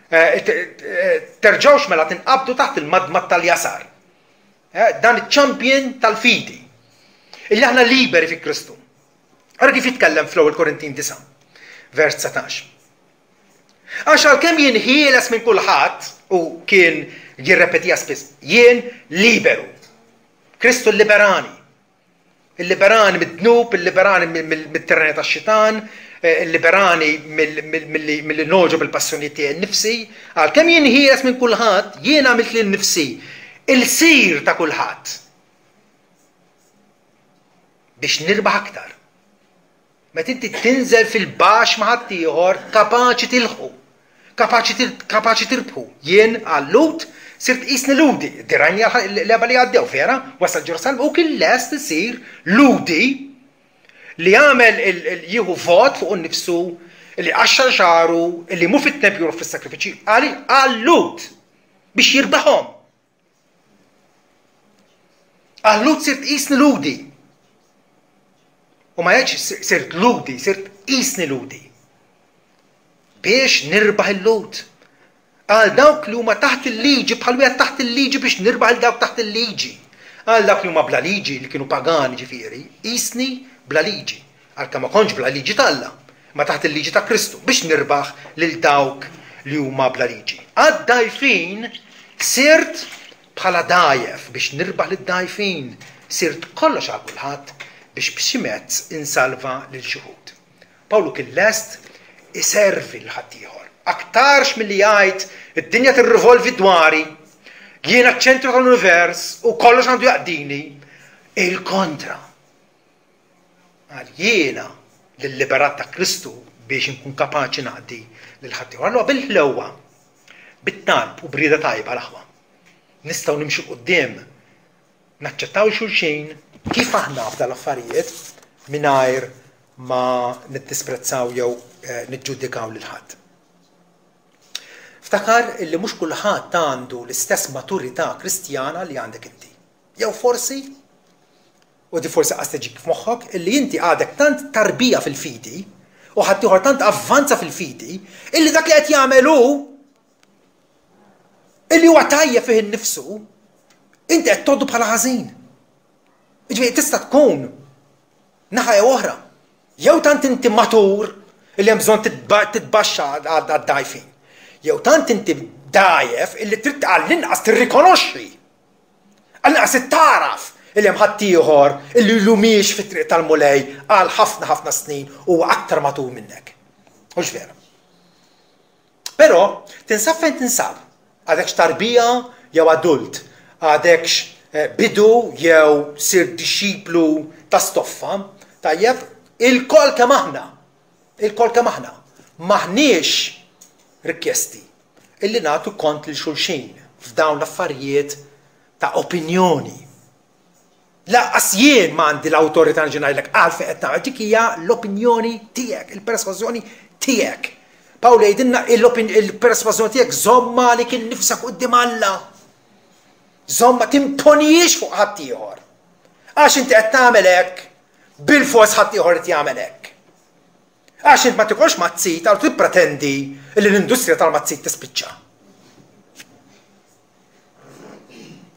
Eh, eh, terġgħux mela tinqabdu taħt il-madmad tal-jasar. Eh, dan iċ-champion tal-fidi. Illi aħna liberi fi Kristu. Ara kif jitkellem fl-ewwel Korintin 9, vers 19. Għax għalkemm jien ħieles minn kulħadd u kien jirrepetija spiss, jien liberu. Kristu liberani. Illiberani mid-dnub, illiberani mit-tirannija tax-xitan, eh, illiberani milli nogħġob il-passjonijiet tiegħi nnifsi. Għalkemm jien ħieles minn kulħadd, jien għamilt lil nifsi il-sir ta' kulħadd. Biex nirbaħ aktar. Meta inti tinżel fil-baxx ma' ħaddieħor, kapaċi tilħqu. Kapaċi kapaċi tirbħu. Jien għal-Lhud sirt qisni Lhudi. Dirajni l-leba li għaddew, vera? Wasal Ġerusalemm u kien lest isir Lhudi li għamel jieħu vot fuq nnifsu li qaxxar xagħru, li mhu fit-tempju jroff fis-sagrifiċċji, għal-Lhud biex jirbaħhom. Għal-Lhud sirt qisni Lhudi. U ma jgħidx sirt Lhudi, sirt qisni Lhudi. Biex nirbaħ il-Lhud. Għal dawk li huma taħt il-liġi bħal wieħed taħt il-liġi biex nirbaħ il dawk taħt il-liġi. Għal dawk li huma bla liġi li kienu pagani ġifieri, qisni bla liġi. Għalkemm ma kontx bla liġi t'Alla, imma taħt il-liġi ta' Kristu, biex nirbaħ lil dawk li huma bla liġi. Għad-dgħajfin sirt bħala dgħajef biex nirbaħ lid-dgħajfin, sirt kollox għal kulħadd biex b'xi mezz insalva lil xi wħud. Pawlu kien lest iservi lil ħaddieħor. Aktarx milli jgħid id-dinja tirrivolvi dwari, jiena ċ-ċentru tal-univers u kollox għandu jaqdini, il-kontra. Qal, Jiena l-liberat ta' Kristu biex inkun kapaċi naqdi lil ħaddieħor. Allura bil-ħlewwa, bit-talb u b'rieda tajba l-aħwa, nistgħu nimxu 'l quddiem, naċċettaw xulxin kif aħna f'dan l-affarijiet mingħajr ma niddisprezzaw jew eh, niġġudikaw lil ħadd. Ftakar illi mhux kulħadd għandu l-istess maturità Kristjana li għandek inti. Jew forsi u di forsi qas tiġik f'moħħok, illi inti għadek tant tarbija fil-fidi u ħaddieħor tant avvanza fil-fidi illi dak li qed jagħmel hu illi huwa tajjeb fih innifsu, inti qed tgħoddu bħala ħażin. Jiġifieri tista' tkun naħa jew oħra. Jew tant inti matur illi hemm bżonn titbaxxa għad-dgħajfin. Jew tant inti dgħajef illi trid għall-inqas tirrikonoxxi Għall-inqas trid tagħraf illi hemm ħaddieħor illi ilu miex fit-triq tal-Mulej għal ħafna ħafna snin u huwa aktar matur minnek. Hux vera? Però tinsab fejn tinsab, għadekx tarbija jew adult, għadekx eh, bidu jew sir dixxiplu ta' stoffa, tajjeb, ilkoll kemm aħna, ilkoll kemm aħna, m'aħniex rikjesti illi nagħtu kont lil xulxin f'dawn l-affarijiet ta' opinjoni. Laqqas jien ma għandi l-awtorità nġi ngħidlek għalfejn qed tagħmel dik hija l-opinjoni tiegħek, il-persważjoni tiegħek. Pawlu jgħidilna il-persważjoni tiegħek żomma għalik innifsek quddiem Alla. Żomma timponijiex fuq ħaddieħor. Għax inti qed tagħmel hekk, bil-fors ħaddieħor qed jagħmel hekk. Għax int ma tikolx mazzit, allura tippretendi li l-industrija tal-mazzit tispiċċa.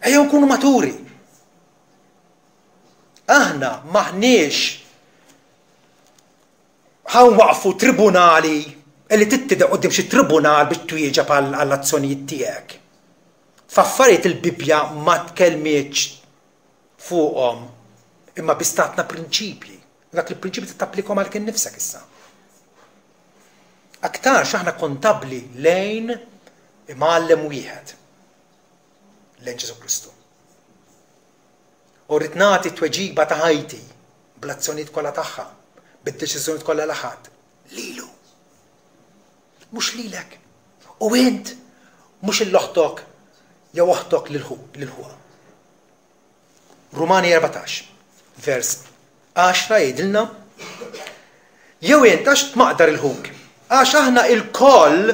Ejjew nkunu maturi. Aħna maħniex ħanwaqfu tribunali li tittida qudiem xi tribunal biex twieġeb għall-azzjonijiet tiegħek. F'affarijiet il-Bibbja ma tkellmitx fuqhom imma biss tatna prinċipji. U dak il-prinċipju trid tapplikhom għalik innifsek issa. Aktarx aħna kontabbli lejn imgħallem wieħed, lejn Ġesù Kristu. U rrid nagħti t-tweġiba ta' ħajti bl-azzjonijiet kollha tagħha, bid-deċiżjonijiet kollha li ħadt, lilu. Mhux lilek. U int mhux 'il oħtok jew oħtok lil ħuha. Rumani 14, vers 10 jgħidilna Jew int għax tmaqdar il-ħuk, għax aħna il-koll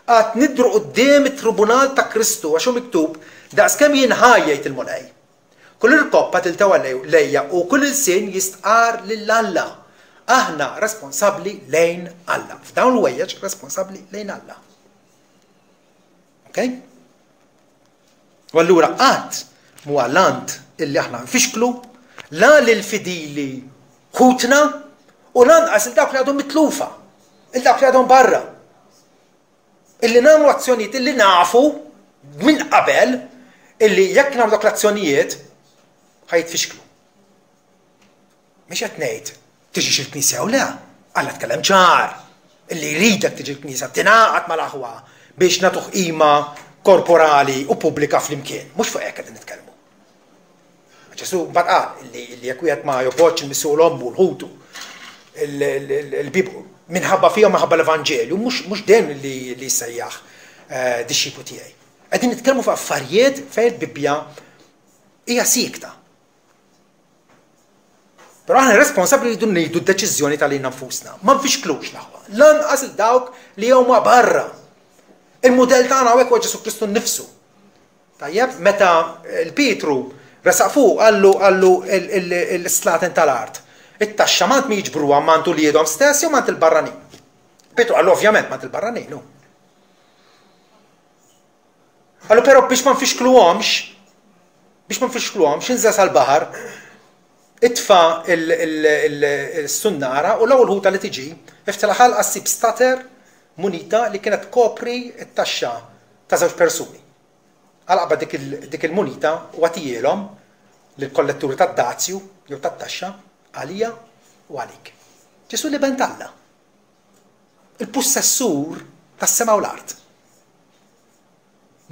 għad nidru quddiem it-tribunal ta' Kristu għax hu miktub daqskemm jien ħaj jgħid il-Mulej. Kull irkoppa tiltewa lejja u kull ilsien jistqarr lil Alla. Aħna responsabbli lejn Alla. F'dawn l-ħwejjeġ responsabbli lejn Alla. Ok? U allura qatt mhu għall-ant illi aħna nfixklu la lil fidili ħutna u lanqas il dawk li għadhom mitlufa, il dawk li għadhom barra. Illi nagħmlu azzjonijiet illi nafu minn qabel illi jekk nagħmlu dawk l-azzjonijiet ħa jitfixklu. Mhix qed ngħid tiġix il-knisja jew le, Alla tkellem ċar illi jridek tiġi l-knisja tingħaqad mal-aħwa biex nagħtuh qima korporali u pubblika flimkien. Mhux fuq hekk qegħdin nitkellmu. Ġesu mbagħad qal li jekk wieħed ma jobgħodx il-missier u l-ommu l-ħutu l-bib minħabba fihom minħabba l-Evanġelju, mhux dejjem li jissejjaħ eh, dixxiplu tiegħi. Qegħdin nitkellmu fuq affarijiet fejn il-Bibbja hija siekta. Però aħna responsabbli li rridu nieħdu d-deċiżjoni ta' lilna nfusna. Ma nfixklux l-aħwa. Lanqas il dawk li huma barra. Il-mudell tagħna hawnhekk huwa Ġesu Kristu nnifsu. Tajjeb, meta l-Pietru resaq fuq qallu qallu l-slaten tal-art. It-taxxa m'għand min jiġbruha m'għand uliedhom stess jew m'għand il-barranin? Pietru qallu ovvjament m'għand il-barranin, hu. Qallu però biex ma nfixkluhomx, biex ma nfixkluhomx, inżel sal-baħar, itfa' il-sunnara u l-ewwel ħuta li tiġi, iftilha ħalqa ssib stater munita li kienet tkopri t-taxxa ta' żewġ persuni. Għal qabad dik il-munita u agħtihielhom lill-kolletturi tad-dazju jew tat-taxxa għalija u għalik. Ġesù l-Iben t'Alla, il-pussessur tas-sema u l-art,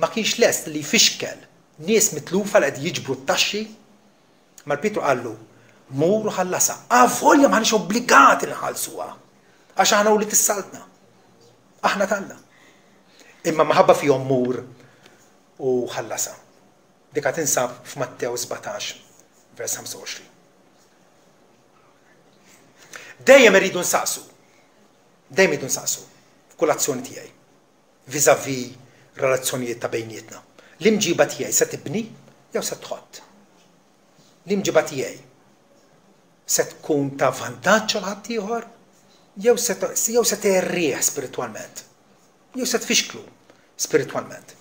ma kienx lest li jfixkel nies mitlufa li qed jiġbru t-taxxi. Mal Pietru qallu, Mur u ħallasha. Avolja m'aħniex obbligati nħallsuha, għax aħna wlied is-Saltna. Aħna t'Alla. Imma maħabba fihom mur u ħallasha. Dika tinsab f'Mattew 17, vers 25. Dejjem irridu nsaqsu. Dejjem irridu nsaqsu f'kull azzjoni tiegħi vis-à-vis relazzjonijiet ta' bejnietna. L-imġiba tiegħi se tibni jew se tħott? L-imġiba tiegħi se tkun ta' vantaġġ għal ħaddieħor jew se jew se tgħerrih spiritwalment? Jew se tfixklu spiritwalment?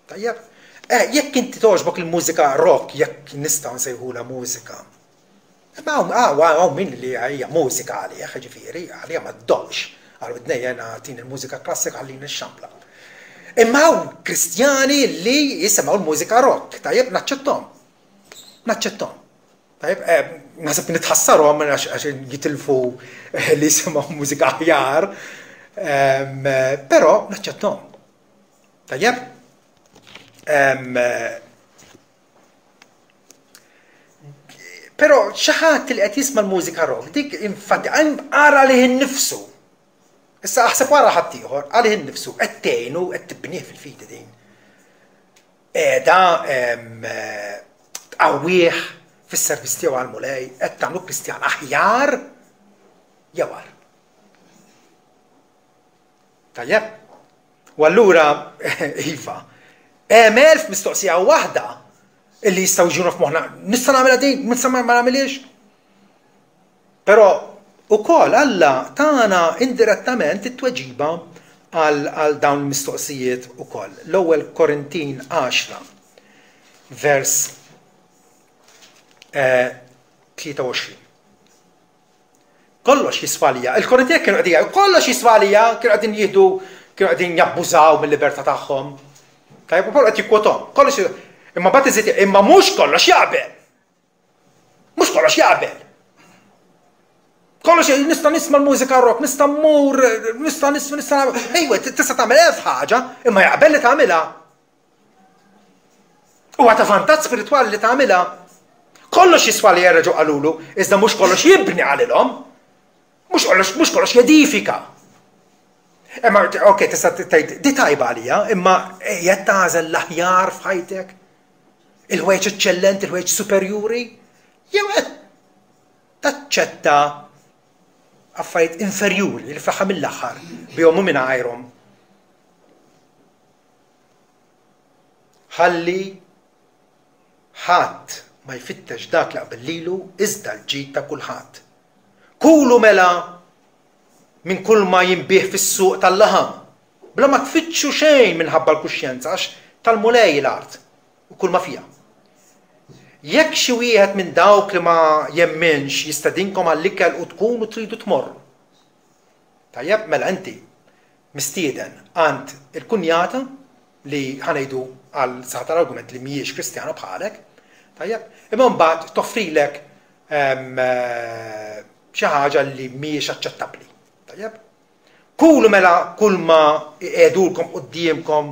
Tajjeb? Eh, jekk inti togħġbok il-mużika rock, jekk nistgħu nsejħulha mużika. Imma hawn hawn hawn min li hija mużika għalih, ġifieri, għalija ma ddoqqx. Għal widnejja jiena tini l-mużika klassika ħallini nixxampla. Imma hawn Kristjani li jisimgħu l-mużika rock, tajjeb naċċettom. Naċċettom. Tajjeb, eh, naħseb nitħassarhom għax jitilfu eh, li jisimgħu mużika aħjar, ehm, però naċċettom. Tajjeb? Ehm, però xi ħadd li qed jisma' l-mużika rock, dik infatti ara lih innifsu. Issa aħseb wara ħaddieħor, għalih innifsu qed tgħinu qed tibnih fil-fidi din. Qiegħda tqawwih fis-servizz tiegħu għall-Mulej, qed tagħmlu Kristjan aħjar jew agħar. Tajjeb? U allura, iva, hemm elf mistoqsija waħda illi jistgħu jiġuna f'moħħna, nista' nagħmilha din, nista' ma nagħmilhiex? Però ukoll Alla tana indirettament it-tweġiba għal dawn il-mistoqsijiet ukoll. L-ewwel Korintin 10 vers 23. Eh, Kollox jiswa għalija. Il-Korintin kienu qegħdin jgħidu kollox jiswa għalija, kienu qegħdin jieħdu kienu qegħdin jabbużaw mill-libertà tagħhom. Tajjeb ukoll qed jikkwotom. Kollox imma bagħad iżid imma mhux kollox jaqbel. Mhux kollox jaqbel. Kollox nista' nisma' l-mużika rock, nista' mmur, nista' nisma' nista' Ejwa, tista' tagħmel elf ħaġa, imma jaqbel li tagħmilha. Huwa ta' vantaġġ spiritwali li tagħmilha. Kollox jiswa li jerġgħu qalulu, iżda mhux kollox jibni qalilhom. Mhux kollox, mhux kollox jedifika. Imma, ok, tista' tgħid di tajba għalija, imma qed tagħżel l-aħjar f'ħajtek? Il-ħwejjeġ eċċellenti, il-ħwejjeġ superjuri? Jew qed taċċetta affarijiet inferjuri li fl-aħħar mill-aħħar bihom u mingħajrhom. Ħalli ħadd ma jfittex dak li qabel lilu iżda l-ġid ta' kulħadd. Kulu mela minn kull ma jinbiegħ fis-suq tal-laħam, bla ma tfittxu xejn minħabba l-kuxjenza għax tal-Mulej l-art u kull ma fiha. Jekk xi wieħed minn dawk li ma jemminx jistedinkom għall-ikel u tkunu tridu tmorru. Tajjeb, mela inti mistieden għand il-kunjata li ħa ngħidu għal saħħa tal-argument li mhijiex Kristjana bħalek, tajjeb, imma mbagħad toffrilek ehm, xi ħaġa li mhijiex aċċettabbli. Tajjeb? Kulu mela kull ma iqiegħdulkom quddiemkom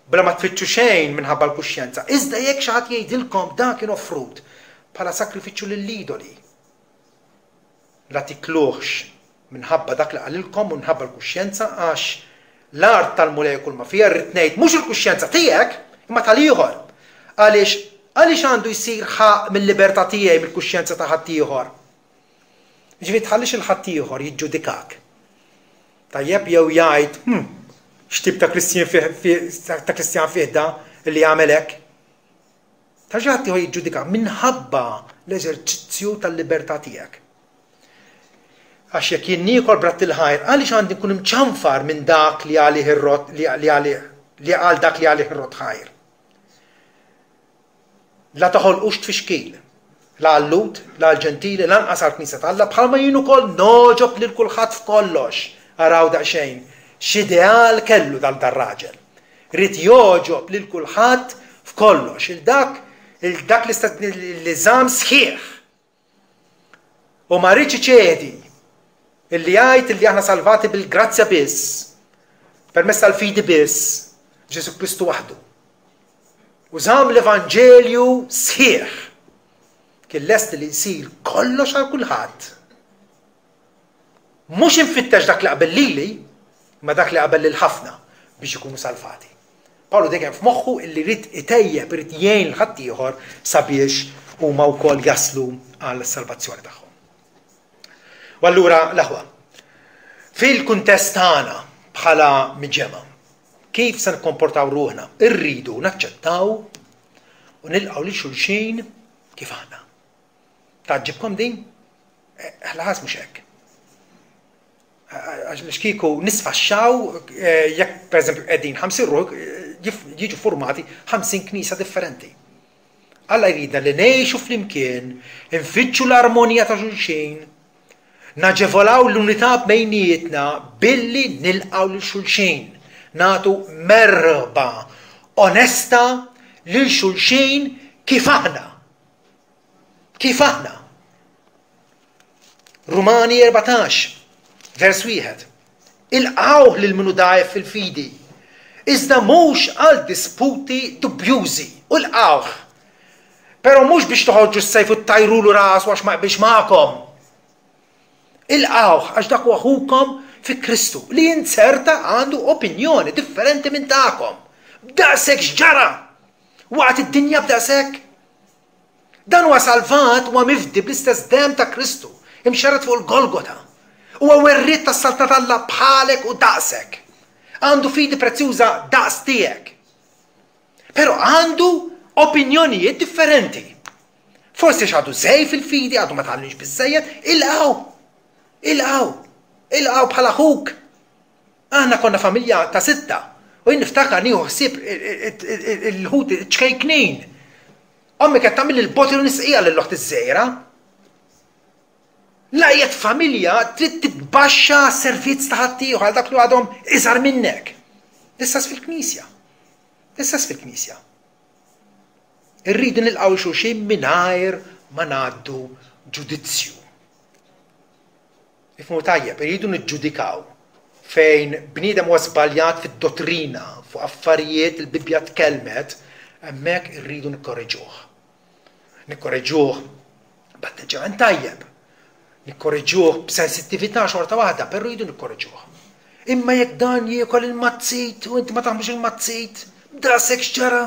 bla ma tfittxu xejn minħabba l-kuxjenza. Iżda jekk xi ħadd jgħidilkom dan kien offrut bħala sagrifiċċju lill-idoli, la tikluhx minħabba dak li qalilkom u minħabba l-kuxjenza għax l-art tal-Mulej u kulma fiha, rrid ngħid mhux il-kuxjenza tiegħek imma tal-ieħor. Għaliex għaliex għandu jsir ħaqq mill-libertà tiegħi mill-kuxjenza ta' ħaddieħor? Jiġifieri tħallix il ħaddieħor jiġġudikak. Tajjeb jew jgħid, hm, x'tip ta' Kristjan fih ta' Kristjan fih da li jagħmel hekk. Ta' xi ħadd ieħor jiġġudika minħabba l-eżerċizzju tal-libertà tiegħek. Għax jekk jien niekol bratt il-ħajr, għaliex għandi nkun imċanfar minn dak li għalih ir-rott li għalih li għal dak li għalih ir-rott ħajr? La toħolqux tfixkil, la għal-Lhud, la għall-Ġentili, lanqas għall-Knisja t'Alla, bħalma jien ukoll nogħġob lil kulħadd f'kollox. Araw daqsxejn x'ideal kellu dal dar-raġel. Ried jogħġob lil kulħadd f'kollox, il dak il dak li żamm sħiħ. U ma riedx iċedi illi jgħid illi aħna salvati bil-grazzja biss, permezz tal-fidi biss, Ġesu Kristu waħdu. U żamm l-Evanġelju sħiħ. Kien lest li jsir kollox għal kulħadd. Mhux infittex dak li qabel lili, imma dak li qabel lil ħafna biex ikunu salvati. Pawlu dejjem f'moħħu illi jrid itejjeb, irid jgħin lil ħaddieħor sabiex huma wkoll jaslu għal salvazzjoni tagħhom. U allura l-aħwa, fil-kuntest tagħna bħala miġemgħa, kif se nikkomportaw ruħna? Irridu naċċettaw u nilqgħu lil xulxin kif aħna. Tgħaġġibkom din? Eh, ħlaħas mhux hekk. Għax kieku nisfaxxaw eh, jekk pereżempju qegħdin 50 ruħ eh, jiġu formati 50 knisa differenti. Alla jridna li ngħixu flimkien, infittxu l-armonija ta' xulxin, naġevolaw l-unità bejnietna billi nilqgħu lil xulxin, nagħtu merħba onesta lil xulxin kif aħna. Kif aħna. Rumani 14, vers 1. Ilqgħuh lil min hu dgħajef fil-fidi, iżda mhux għal disputi dubjużi, u lqgħuh. Però mhux biex toħorġu s-sejf u ttajrulu rasu għax ma jqbilx magħkom. Ilqgħuh għax dak huwa ħukom fi Kristu li inzerta għandu opinjoni differenti minn tagħkom. B'daqshekk x'ġara? Waqgħet id-dinja b'daqshekk? Dan huwa salvat, huwa mifdi bl-istess demm ta' Kristu, imxerred fuq il-Golgota. Huwa werriet tas-Saltna t'Alla bħalek u daqsek. Għandu fidi prezzjuża daqs tiegħek. Però għandu opinjonijiet differenti. Forsi għax għadu żej fil-fidi, għadu ma tgħallimx biżżejjed, ilqgħu. Ilqgħu. Ilqgħu bħala ħuk. Aħna konna familja ta' sitta u jien niftakar nieħu ħsieb il-ħut ċkejknin. Ommi kienet tagħmel il-bottle u nisqija lil oħti ż-żgħira. La qiegħed familja trid titbaxxa għas-servizz ta' ħaddieħor għal dak li għadhom iżgħar minnek. L-istess fil-knisja. L-istess fil-knisja. Irridu nilqgħu xulxin mingħajr ma ngħaddu ġudizzju. Ifhmu tajjeb, irridu niġġudikaw fejn bniedem huwa żbaljat fid-dottrina fuq affarijiet il-Bibbja tkellmet, hemmhekk irridu nikkoreġuh. Nikkoreġuh. B'atteġġjament tajjeb. Nikkoreġuh b'sensittività xorta waħda, però rridu nikkoreġuh. Imma jekk dan jiekol il-mazzit u inti ma taħmlux il-mazzit, daqshekk x'ġara?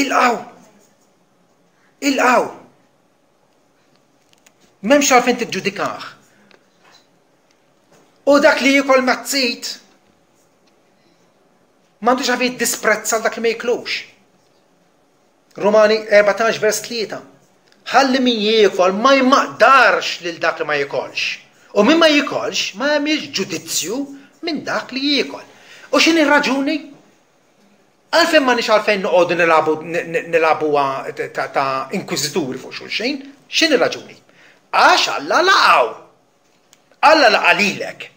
Ilqgħu! Ilqgħu! M'hemmx għalfejn tiġġudikah. U dak li jiekol mazzit m'għandux għalfejn jiddisprezza dak li ma jiklux. Rumani 14 vers 3. Ħalli min jiekol ma jmaqdarx lil dak li ma jikolx. U min ma jikolx ma jagħmilx ġudizzju minn dak li jiekol. U x'inhi r-raġuni? Għalfejn ma nix għalfejn noqogħdu nilagħbu nilagħbuha ta' inkwiżituri fuq xulxin? X'inhi raġuni? Għax Alla laqgħu. Alla laqa' lilek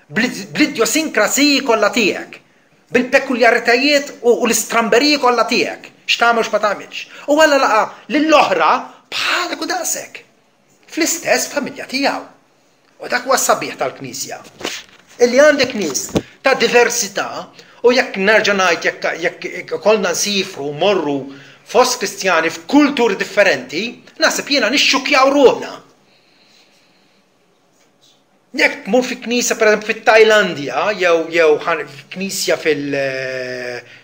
bl-idjosinkrasiji kollha tiegħek, bil-pekuljaritajiet u l-istramberiji kollha tiegħek, x'tagħmel u x'ma tagħmilx. U Alla laqa' lill-oħra bħalek u daqsek, fl-istess familja tiegħu. U dak huwa s-sabiħ tal-Knisja. Illi għandek nies ta' diversità u jekk nerġa' ngħid jekk jekk ikollna nsifru morru fost Kristjani f'kulturi differenti, naħseb jiena nixxukkjaw ruħna. Jekk tmur fi knisja pereżempju fit-Tajlandja jew jew knisja fil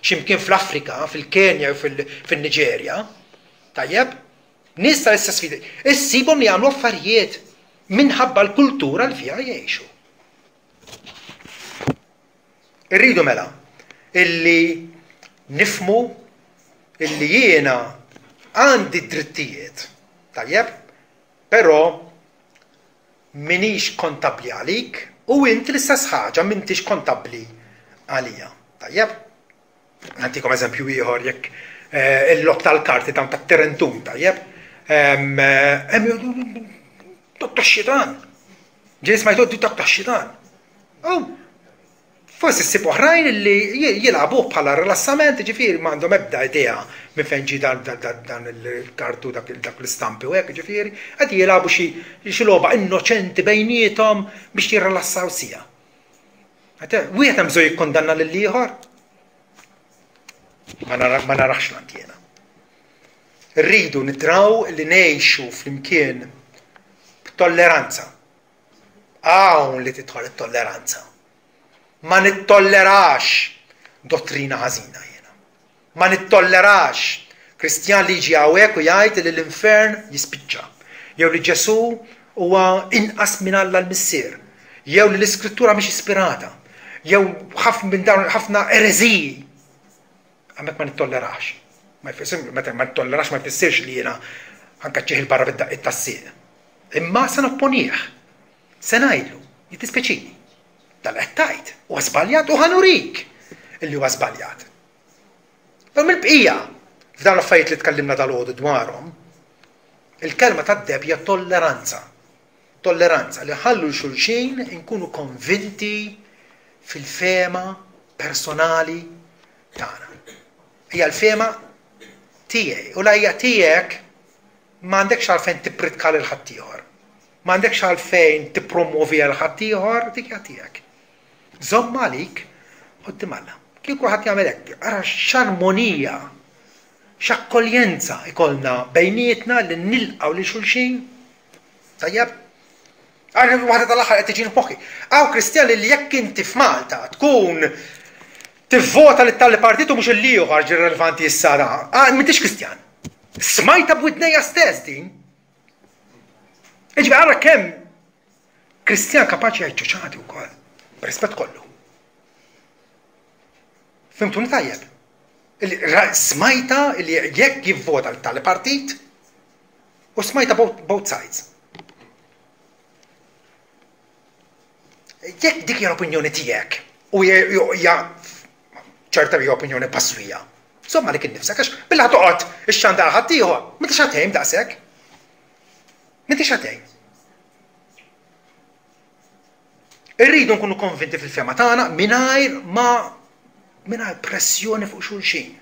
x'imkien fl-Afrika, fil-Kenja jew fil-Niġerja, tajjeb, nies tal-istess fidi, issibhom li jagħmlu affarijiet minħabba l-kultura li fiha jgħixu. Irridu mela illi nifmu illi jiena għandi drittijiet, tajjeb, Però m'iniex kontabbli għalik u int l-istess ħaġa m'intix kontabbli għalija. Tajjeb? Nagħtikom eżempju ieħor jekk eh, il-logħob tal-karti dawn tat-Terentun, tajjeb? Dak tax-xitan. Ġej smajtu dak tax-xitan. Oh, Forsi ssib oħrajn li jilagħbuh bħala rilassament, jiġifieri m'għandhom ebda idea minn fejn ġie dan il-kartu dak l-istampi u hekk, jiġifieri qed jilagħbu xi logħba innoċenti bejniethom biex jirrilassaw siegħa. Wieħed hemm bżonn jikkundanna lill-ieħor? Ma narax lant jiena. Rridu nidraw li ngħixu flimkien b'tolleranza. Hawn li tidħol it-tolleranza. Ma nittollerax dottrina ħażina jiena. Ma nittollerax Kristjan li jiġi hawnhekk u jgħid li l-infern jispiċċa, jew li Ġesù huwa inqas minn Alla l-Missier, jew li l-Iskrittura mhix ispirata, jew ħafna minn dawn ħafna ereżiji. Hemmhekk ma nittollerax. Ma jfissirx meta ma nittollerax ma jfissirx li jiena ħankaċċih 'il barra bid-daqqiet tas-sieq. Imma se nopponih. Se ngħidlu, jiddispjaċini. Dan qed tgħid huwa żbaljat u ħa nurik illi huwa żbaljat. Però mill-bqija, f'dawn l-affarijiet li tkellimna dalgħodu dwarhom, il-kelma tad-deheb hija tolleranza. Tolleranza li nħallu 'l xulxin inkunu konvinti fil-fehma personali tagħna. Hija l-fehma tiegħi u la hija tiegħek M'għandekx għalfejn tippritka lil ħaddieħor. M'għandekx għalfejn tippromwoviha lil ħaddieħor, dik hija tiegħek. Żommha għalik quddiem Alla. Kieku kulħadd jagħmel hekk, ara x'armonija, x'akkoljenza ikollna bejnietna li nilqgħu lil xulxin. Tajjeb? Għal waħda tal-aħħar qed tiġini f'moħħi. Hawn Kristjani li jekk inti f'Malta tkun tivvota lit tali partit u mhux il-ieħor ġi relevanti issa da, ah, m'intix Kristjan. Smajta b'widnejja stess din. Iġbi ara kemm Kristjan kapaċi jgħid ċuċati wkoll, b'rispett kollu. Fimtuni tajjeb? Smajta li jekk jivvota l-tali partit u smajta both sides. Jekk dik hija l-opinjoni tiegħek u hija ċerta hija opinjoni paswija, żomm għalik innifsek għax billi ħa toqgħod ixxandar ħaddieħor, m'intix ħa tgħin daqshekk. M'intix ħa tgħin. Irridu nkunu konvinti fil-fema tagħna mingħajr ma mingħajr pressjoni fuq xulxin.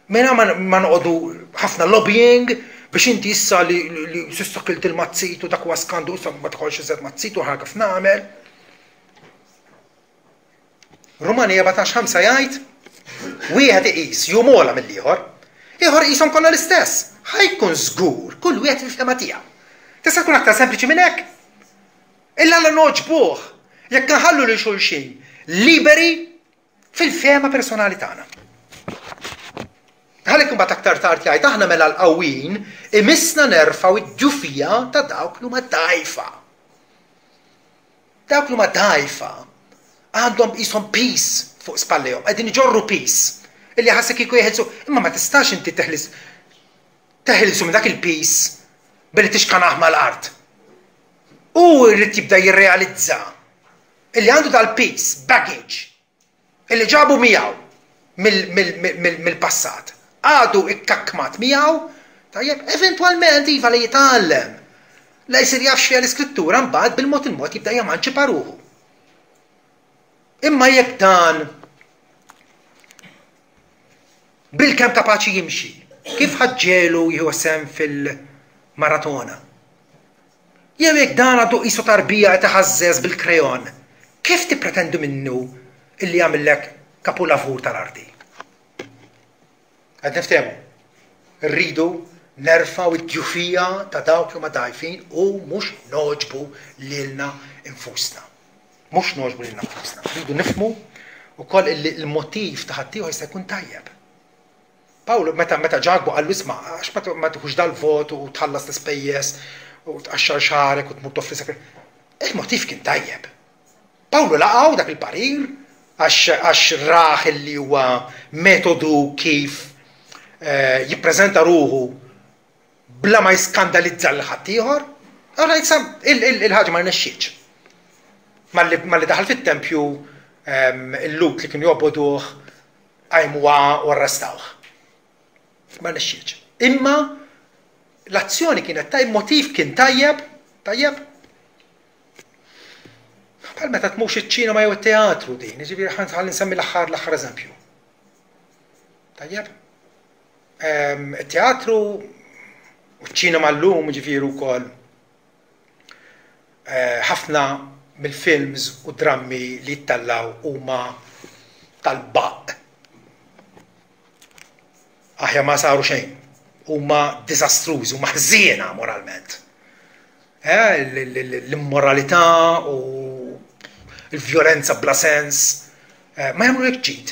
Mingħajr ma noqogħdu ħafna lobbying biex inti issa li, li, li s'issa kilt il-mazzit u dak huwa skandu issa ma tkolx iżjed mazzit u ħa kif nagħmel. Rumani 14:5 jgħid wieħed iqis jum ogħla mill-ieħor, ieħor iqishom kollha l-istess. Ħa jkun żgur kull wieħed fil-fehma tiegħu. Tista' tkun aktar sempliċi minn hekk? Illa Alla nogħġbuh jekk inħallu lil xulxin liberi fil-fehma personali tagħna. Għalhekk imbagħad aktar tard jgħid aħna mela l-qawwin imissna nerfgħu d-djufija ta' dawk li huma dgħajfa. Dawk li huma dgħajfa għandhom qishom piż fuq spallejhom, qegħdin iġorru piż illi ħassek kieku jeħilsu, imma ma tistax inti teħlis teħilsu minn dak il-piż billi tixkanah mal-art. Hu jrid jibda jirrealizza illi għandu dal-piż, baggage, illi ġabu miegħu mill-passat. Għadu ikkakkmat miegħu, tajjeb, eventwalment iva li jitgħallem. La jsir jaf x'fiha l-iskrittura mbagħad bil-mod il-mod jibda jemanċipa ruħu. Imma jekk dan bilkemm kapaċi jimxi, kif ħaġġelu jieħu sehem fil-maratona? Jew jekk dan għadu qisu tarbija qed iħażżeż bil-krejon, kif tippretendu minnu illi jagħmillek kapulavur tal-arti? Qed niftehmu? Irridu nerfgħu d-djufija ta' dawk li huma dgħajfin u mhux nogħġbu lilna nfusna. Mhux nogħġbu lilna nfusna. Rridu nifhmu wkoll illi l-motiv ta' ħaddieħor jista' jkun tajjeb. Pawlu, meta meta Ġakbu qallu isma' għax ma ma tieħux dal-vot u tħallas l-ispejjeż u tqaxxar xagħrek u tmur toffri sagrifiċċju. Il-motiv kien tajjeb. Pawlu laqgħu dak il-parir għax għax rah illi huwa metodu kif eh, jippreżenta ruħu bla ma jiskandalizza lil ħaddieħor. Allura issa il-ħaġa ma rnexxietx. Malli daħal fit-tempju ehm, il-Lhud li kienu jobogħduh Qajmuha u arrestawh. Ma rnexxietx. Imma l-azzjoni kienet tajjeb, motiv kien tajjeb, tajjeb. Bħal meta tmux iċ-ċinema jew it-teatru din, jiġifieri ħalli nsemmi l-aħħar l-aħħar eżempju. Tajjeb? Ehm, it-teatru u ċ-ċinema llum jiġifieri wkoll Ħafna mill-films u drammi li jittellgħu huma tal-baqq. Aħjar ma saru xejn. Huma diżastrużi, huma ħżiena moralment. Eh, l-immoralità u l-vjolenza bla sens eh, ma jagħmlu hekk ġid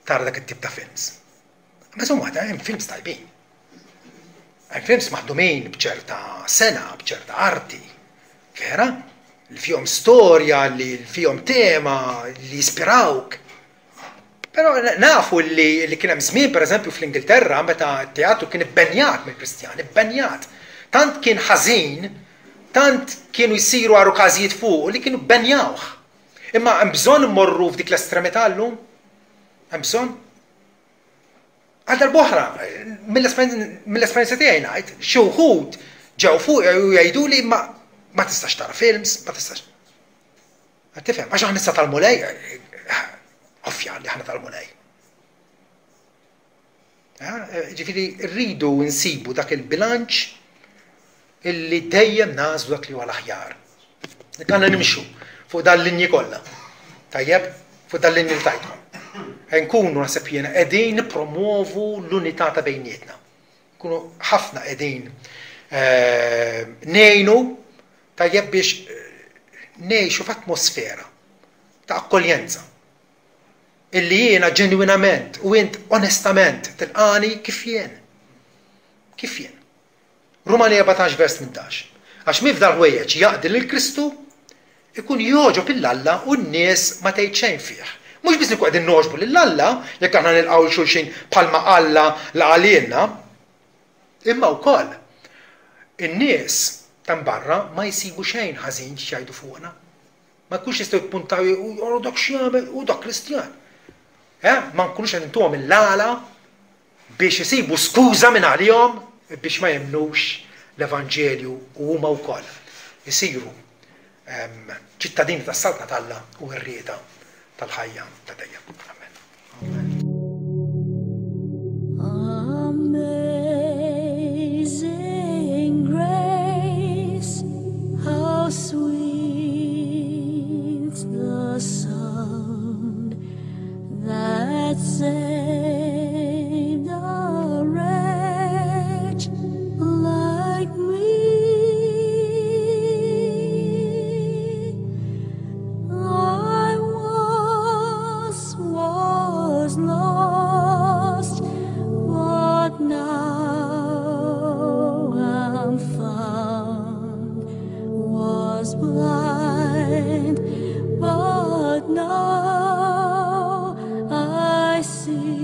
tara dak it-tip ta' films. Ma insomma, hemm films tajbin. Hemm films maħdumin b'ċerta sengħa, b'ċerta arti, vera? Li fihom storja, li fihom tema, li jispirawk. Però nafu li, li kien hemm żmien pereżempju fl-Ingilterra meta t-teatru kien ibbenjat mill-Kristjani, ibbenjat. Tant kien ħażin, tant kienu jsiru għarukażijiet fuq li kienu bbenjawh. Imma hemm bżonn immorru f'dik l-estremità llum? Hemm bżonn? Għal darb'oħra, mill-esperjenza tiegħi ngħid, xi wħud ġew fuqi u jgħiduli ma ma tistax tara films, ma tistax. Qed tifhem, għax aħna issa tal-Mulej, ovvja li aħna tal-Mulej. Ġifieri rridu nsibu dak il-bilanċ illi dejjem nagħżlu dak li huwa l-aħjar. Dik għandna nimxu fuq dan linji kollha. Tajjeb, fuq dan linji li tajtkom. Nkunu naħseb jiena qegħdin nippromuovu l-unità ta' bejnietna. Nkunu ħafna qegħdin eh, ngħinu tajjeb biex eh, ngħixu f'atmosfera ta' akkoljenza illi jiena ġenwinament u int onestament tilqani kif jien. Kif jien. Rumani 14 vers 18. Għax min f'dal-ħwejjeġ jaqdi lil Kristu, ikun jogħġob 'il Alla u n-nies ma tgħid xejn fih. Mhux biss inkunu qegħdin nogħġbu lil Alla jekk aħna nilqgħu 'l xulxin bħalma Alla laqa' lilna, imma wkoll in-nies ta' barra ma jsibu xejn ħażin x'jgħidu fuqna. Ma jkunux jistgħu jippuntaw u dak x'jagħmel u dak Kristjan. Eh, ma nkunux qed intuhom il-għala biex isibu skuża minn għalihom biex ma jemmnux l-evanġelju u huma wkoll isiru ċittadini tas-Saltna t'Alla u werrieta tal-ħajja ta' dejjem. Amen. Amen. Amazing grace, how sweet the sound that saved a wretch. I see.